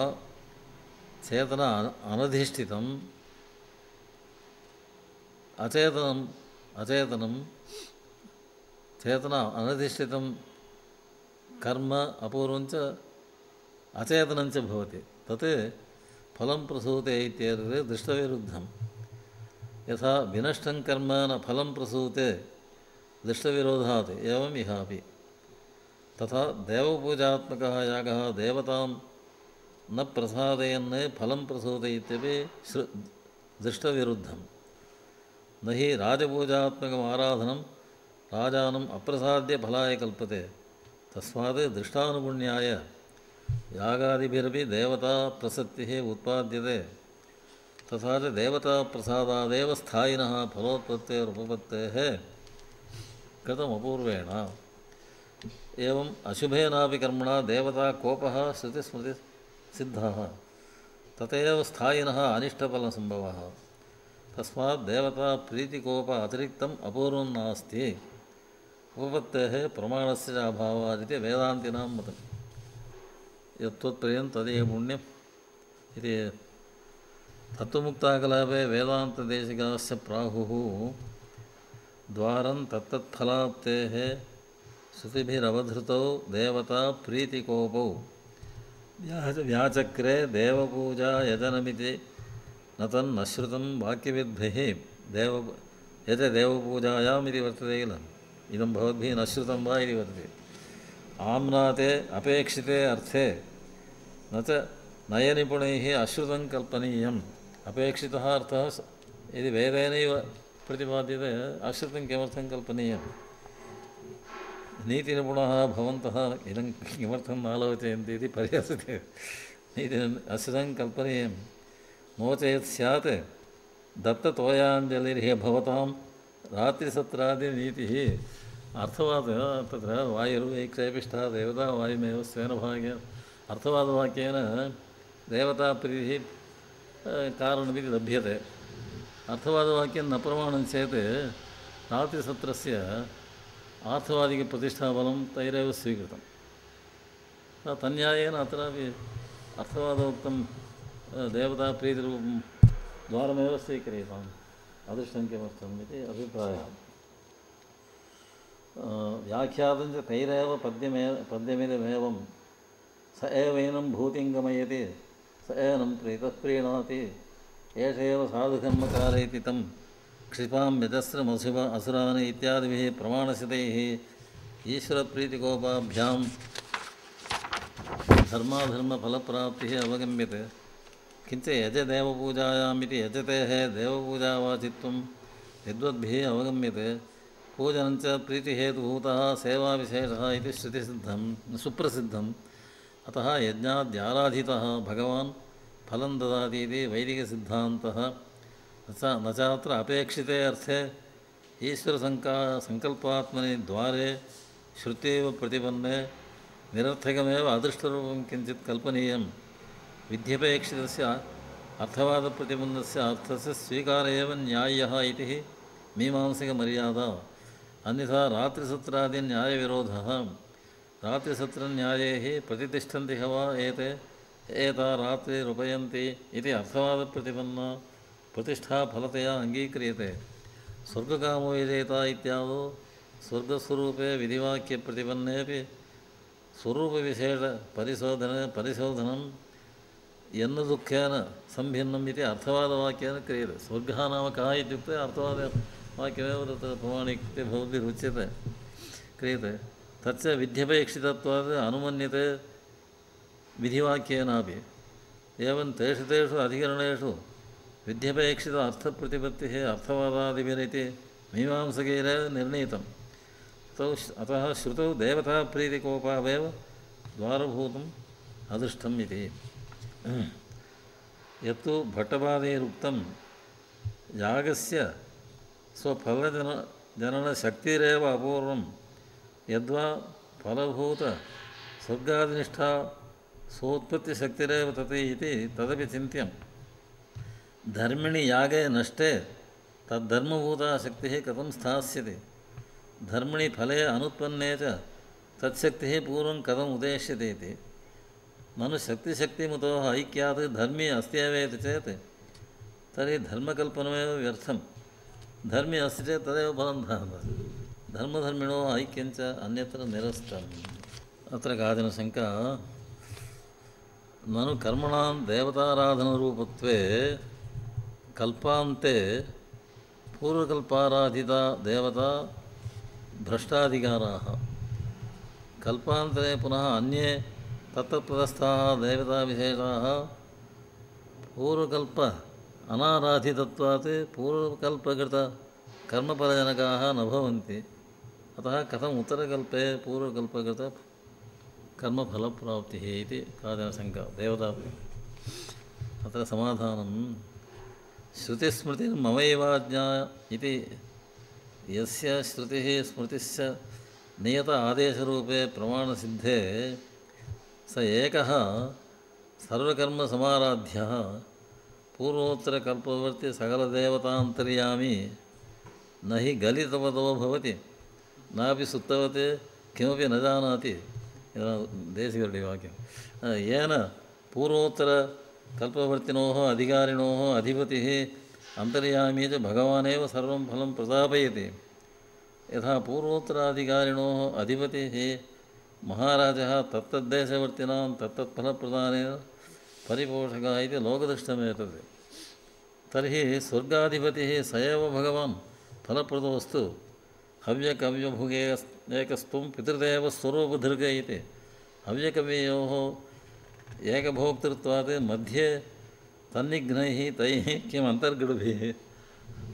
चेतन अनधिष्ठितम् अचेतनम् अचेतनं चेतन अनधिष्ठितं कर्म अपूर्वञ्च अचेतनञ्च भवति तत् फलं प्रसूते इत्येतत् दृष्टविरुद्धं यथा विनष्टं कर्म न फलं प्रसूते दृष्टविरोधात् एवम् इहापि तथा देवपूजात्मकः यागः देवतां न प्रसादयन् फलं प्रसूते इत्यपि श्रु दृष्टविरुद्धं न हि राजपूजात्मकम् आराधनं राजानम् अप्रसाद्य फलाय कल्पते तस्मात् दृष्टानुगुण्याय यागादिभिरपि देवता प्रसक्तिः उत्पाद्यते तथा च देवताप्रसादादेव स्थायिनः फलोत्पत्तेरुपपत्तेः कृतमपूर्वेण एवम् अशुभेनापि कर्मणा देवता कोपः श्रुतिस्मृतिसिद्धः तथैव स्थायिनः अनिष्टफलसम्भवः तस्मात् देवता प्रीतिकोप अतिरिक्तम् अपूर्वं नास्ति उपपत्तेः प्रमाणस्य च अभावादिति वेदान्तिनां मतं यत्त्वत्प्रियं तदेव पुण्यम् इति तत्त्वमुक्ताकलापे वेदान्तदेशिकाश्च प्राहुः द्वारं तत्तत्फलाप्तेः श्रुतिभिरवधृतौ देवता प्रीतिकोपौ व्याचक्रे देवपूजा यजनमिति न तन्नश्रुतं वाक्यविद्भिः देव यज देवपूजायाम् इति वर्तते किल इदं भवद्भिः न श्रुतं वा इति वर्तते आम्नाते अपेक्षिते अर्थे न च नयनिपुणैः अश्रुतं कल्पनीयम् अपेक्षितः अर्थः यदि वेदेनैव प्रतिपाद्यते अश्रुतं किमर्थं कल्पनीयम् नीतिनिपुणः भवन्तः इदं किमर्थं नालोचयन्ति इति परिहसते नीति अश्रुतं कल्पनीयं नो चेत् स्यात् दत्ततोयाञ्जलिर्हि भवतां रात्रिसत्रादिनीतिः अर्थवादः तत्र वायुर्वैक्षेपिष्ठः देवता वायुमेव स्वेन भागे अर्थवादवाक्येन देवताप्रीतिः कारणमिति लभ्यते अर्थवादवाक्यं न प्रमाणं चेत् रात्रिसत्रस्य आर्थवादिकप्रतिष्ठाबलं तैरेव स्वीकृतं तन्यायेन अत्रापि अर्थवादोक्तं देवताप्रीतिरूपं द्वारमेव स्वीक्रियताम् अदृष्टं किमर्थम् इति अभिप्रायः व्याख्यातं च तैरेव पद्यमे पद्यमिदमेवं स एवैनं भूतिं गमयति स एनं प्रीतः प्रीणाति एष एव साधुकर्मकारयति तं क्षिपां यजस्रमसुभ असुरान् इत्यादिभिः प्रमाणसितैः ईश्वरप्रीतिकोपाभ्यां धर्माधर्मफलप्राप्तिः अवगम्यते किञ्च यजदेवपूजायामिति यजतेः देवपूजावाचित्वं यद्वद्भिः अवगम्यते पूजनं च प्रीतिहेतुभूतः सेवाविशेषः इति श्रुतिसिद्धं सुप्रसिद्धम् अतः यज्ञाद्याराधितः भगवान् फलं ददाति इति वैदिकसिद्धान्तः न चात्र अपेक्षिते अर्थे ईश्वरसङ्का सङ्कल्पात्मनि द्वारे श्रुतेव प्रतिपन्ने निरर्थकमेव अदृष्टरूपं किञ्चित् कल्पनीयं विध्यपेक्षितस्य अर्थवादप्रतिपन्नस्य अर्थस्य स्वीकार एव न्याय्यः इति मीमांसिकमर्यादा अन्यथा रात्रिसत्रादिन्यायविरोधः रात्रिसत्रन्यायैः प्रतितिष्ठन्ति वा एते एता रात्रिरुपयन्ति इति अर्थवादप्रतिपन्ना प्रतिष्ठा फलतया अङ्गीक्रियते स्वर्गकामो यजेता इत्यादौ स्वर्गस्वरूपे विधिवाक्यप्रतिपन्नेपि स्वरूपविशेषपरिशोधने परिशोधनं यन्न दुःखेन सम्भिन्नम् इति अर्थवादवाक्येन क्रियते स्वर्गः नाम कः इत्युक्ते अर्थवादवाक्यमेव तत्र प्रमाणिकते भवद्भिरुच्यते क्रियते तच्च विध्यपेक्षितत्वात् अनुमन्यते विधिवाक्येनापि एवं तेषु तेषु अधिकरणेषु विध्यपेक्षित अर्थप्रतिपत्तिः अर्थवादादिभिरिति मीमांसकैरेव निर्णीतम् अतः श्रुतौ देवताप्रीतिकोपावेव द्वारभूतम् अदृष्टम् इति यत्तु भट्टपादैरुक्तं यागस्य स्वफलजन जननशक्तिरेव अपूर्वं यद्वा फलभूत स्वर्गादिनिष्ठा सोत्पत्तिशक्तिरेव तत् इति तदपि चिन्त्यं धर्मिणि यागे नष्टे तद्धर्मभूता शक्तिः कथं स्थास्यति धर्मिणि फले अनुत्पन्ने च तत्शक्तिः पूर्वं कथम् उदेश्यते इति ननु शक्तिशक्तिमुतोः ऐक्यात् धर्मी अस्त्येवेति चेत् तर्हि धर्मकल्पनमेव व्यर्थं धर्मी अस्ति चेत् तदेव फलं ददाति धर्मधर्मिणोः ऐक्यञ्च अन्यत्र निरस्तम् अत्र काचन शङ्का ननु कर्मणां देवताराधनरूपत्वे कल्पान्ते पूर्वकल्पाराधिता देवता भ्रष्टाधिकाराः कल्पान्तरे पुनः अन्ये तत्तत्पदस्थाः देवताविशेषाः पूर्वकल्प अनाराधितत्वात् पूर्वकल्पकृतकर्मफलजनकाः न भवन्ति अतः कथम् उत्तरकल्पे पूर्वकल्पकृतकर्मफलप्राप्तिः इति काचन शङ्का देवता अत्र समाधानं श्रुतिस्मृतिर्ममैवाज्ञा इति यस्य श्रुतिः स्मृतिश्च नियत आदेशरूपे प्रमाणसिद्धे स एकः सर्वकर्मसमाराध्यः पूर्वोत्तरकल्पवर्ती सकलदेवतान्तर्यामी न हि गलितवतो भवति नापि सुप्तवते किमपि न जानाति देशिकवाक्यं येन पूर्वोत्तरकल्पवर्तिनोः अधिकारिणोः अधिपतिः अन्तर्यामी च भगवानेव सर्वं फलं प्रदापयति यथा पूर्वोत्तराधिकारिणोः अधिपतिः महाराजः तत्तद्देशवर्तिनां तत्तत्फलप्रदानेन परिपोषकः इति लोकदृष्टमेतत् तर्हि स्वर्गाधिपतिः स एव भगवान् फलप्रदोऽस्तु हव्यकव्यभुगे एकस्त्वं पितृदेवस्वरूपधृग इति हव्यकव्ययोः एकभोक्तृत्वात् मध्ये तन्निघ्नैः तैः किम् अन्तर्गुढभिः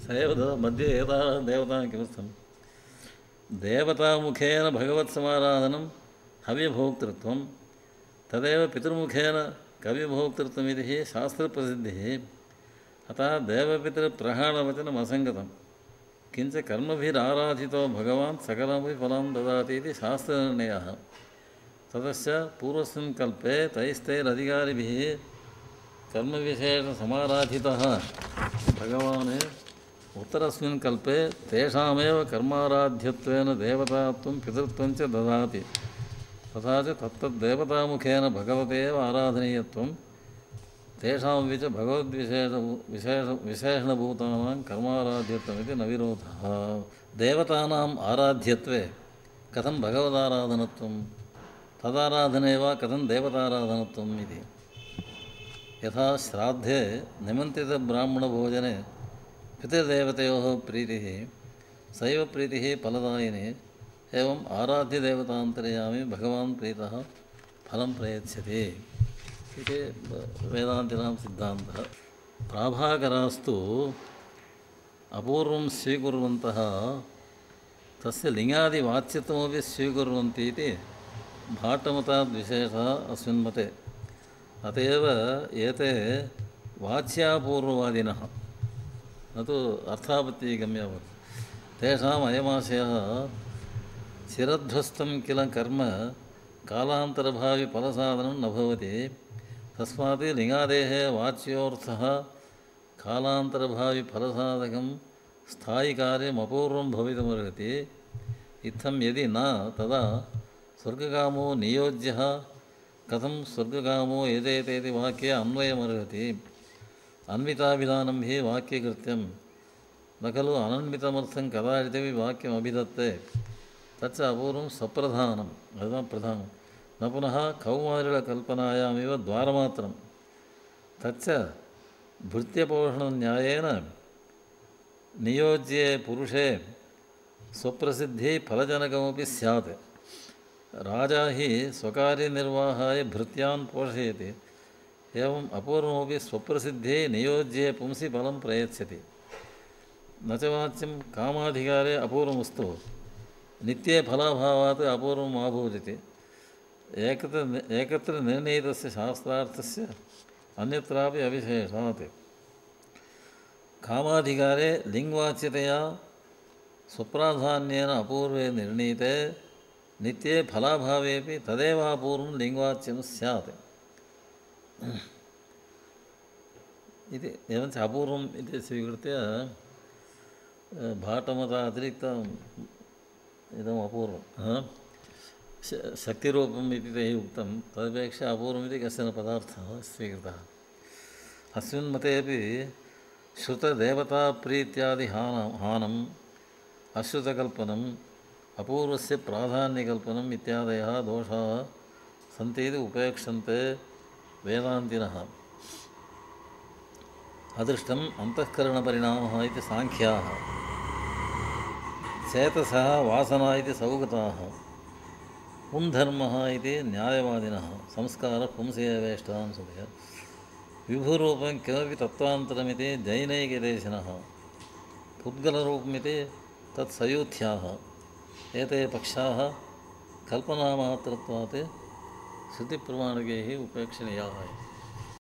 स एव मध्ये एताः देवताः किमर्थं देवतामुखेन भगवत्समाराधनं हव्यभोक्तृत्वं तदेव पितृमुखेन कव्यभोक्तृत्वमिति शास्त्रप्रसिद्धिः अतः देवपितृप्रहाणवचनम् असङ्गतं किञ्च कर्मभिराराधितो भगवान् सकलमपि फलं ददाति इति शास्त्रनिर्णयः ततश्च पूर्वस्मिन् कल्पे तैस्तैरधिकारिभिः कर्मविशेषसमाराधितः भगवान् उत्तरस्मिन् कल्पे तेषामेव कर्माराध्यत्वेन देवतात्वं पितृत्वं च ददाति तथा च तत्तद्देवतामुखेन भगवते एव आराधनीयत्वं तेषां विच भगवद्विशेष विशेष विशेषणभूतानां कर्माराध्यत्वमिति न विरोधः देवतानाम् आराध्यत्वे कथं भगवदाराधनत्वं तदाराधने वा कथं देवताराधनत्वम् इति यथा श्राद्धे निमन्त्रितब्राह्मणभोजने पितृदेवतयोः प्रीतिः सैव प्रीतिः फलदायिनी एवम् आराध्यदेवतान्तर्यामी भगवान् प्रीतः फलं प्रयच्छति इति वेदान्तिनां सिद्धान्तः प्राभाकरास्तु अपूर्वं स्वीकुर्वन्तः तस्य लिङ्गादिवाच्यत्वमपि स्वीकुर्वन्ति इति भाट्टमताद्विशेषः अस्मिन् मते अत एव एते वाच्यापूर्ववादिनः न तु अर्थापत्तिगम्यावत् तेषाम् अयमाशयः चिरध्वस्तं किल कर्म कालान्तरभावि फलसाधनं न भवति तस्मात् लिङ्गादेः वाच्योऽर्थः कालान्तरभावि फलसाधकं स्थायिकार्यम् अपूर्वं भवितुमर्हति इत्थं यदि न तदा स्वर्गकामो नियोज्यः कथं स्वर्गकामो यजेतेति वाक्ये अन्वयमर्हति अन्विताभिधानं हि वाक्यकृत्यं न खलु अनन्वितमर्थं कदाचिदपि वाक्यमभिधत्ते तच्च अपूर्वं सप्रधानम् अथवा प्रधानं न पुनः कौमारिकल्पनायामेव द्वारमात्रं तच्च भृत्यपोषणन्यायेन नियोज्ये पुरुषे स्वप्रसिद्धिः फलजनकमपि स्यात् राजा हि स्वकार्यनिर्वाहाय भृत्यान् पोषयति एवम् अपूर्वमपि स्वप्रसिद्धिः नियोज्ये पुंसि फलं प्रयच्छति न च वाच्यं कामाधिकारे अपूर्वमस्तु नित्ये फलाभावात् अपूर्वम् आभूदिति एकत्र एकत्र निर्णीतस्य शास्त्रार्थस्य अन्यत्रापि अविशेषात् कामाधिकारे लिङ्गवाच्यतया स्वप्राधान्येन अपूर्वे निर्णीते नित्ये फलाभावेपि तदेव अपूर्वं लिङ्गवाच्यं स्यात् इति एवञ्च अपूर्वम् इति स्वीकृत्य भाटमतातिरिक्तम् इदम् अपूर्वं शक्तिरूपम् इति तैः उक्तं तदपेक्षया अपूर्वमिति कश्चन पदार्थः स्वीकृतः अस्मिन् मतेपि श्रुतदेवताप्रीत्यादिहानं हानम् अश्रुतकल्पनम् अपूर्वस्य प्राधान्यकल्पनम् इत्यादयः दोषाः सन्ति इति उपेक्षन्ते वेदान्तिनः अदृष्टम् अन्तःकरणपरिणामः इति साङ्ख्याः चेतसः वासना इति सौगताः पुंधर्मः इति न्यायवादिनः संस्कारः पुंसि एवेष्टां सुभ्य विभुरूपं किमपि तत्त्वान्तरमिति जैनैकदेशिनः पुद्गलरूपमिति तत्सयूथ्याः एते पक्षाः कल्पनामात्रत्वात् श्रुतिप्रमाणकैः उपेक्षणीयाः